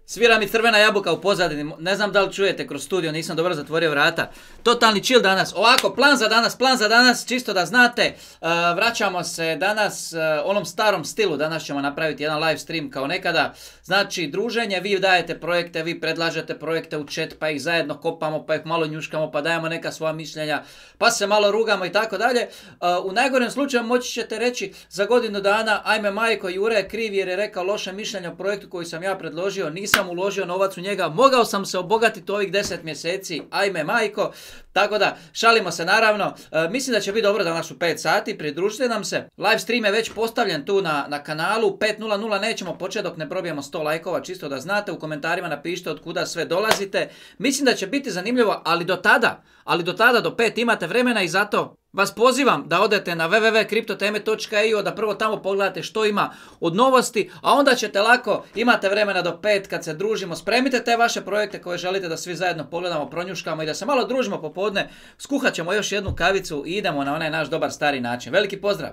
Svira mi crvena jabuka u pozadini, ne znam da li čujete kroz studio, nisam dobro zatvorio vrata. Totalni chill danas. Ovako, plan za danas, čisto da znate, vraćamo se danas onom starom stilu, danas ćemo napraviti jedan live stream kao nekada. Znači, druženje, vi dajete projekte, vi predlažete projekte u chat, pa ih zajedno kopamo, pa ih malo njuškamo, pa dajemo neka svoja mišljenja, pa se malo rugamo i tako dalje. U najgorem slučaju moći ćete reći za godinu dana, ajme majko, Jure je kriv jer je rekao loše mišljenje o projektu koji sam ja predložio, nisam uložio novac u njega, mogao sam se obogatiti ovih 10 mjeseci, ajme majko. Tako da, šalimo se naravno, mislim da će biti dobro danas u 5 sati, pridružite nam se. Live stream je već postavljen tu na kanalu, 5.00 nećemo početi dok ne probijemo 100 lajkova, čisto da znate, u komentarima napišite od kuda sve dolazite. Mislim da će biti zanimljivo, ali do tada, do 5 imate vremena i zato vas pozivam da odete na www.kriptoteme.io, da prvo tamo pogledate što ima od novosti, a onda ćete lako, imate vremena do 5 kad se družimo, spremite te vaše projekte koje želite da svi zajedno pogledamo, pronjuškamo i da se malo družimo popodne, skuhat ćemo još jednu kavicu i idemo na onaj naš dobar stari način. Veliki pozdrav!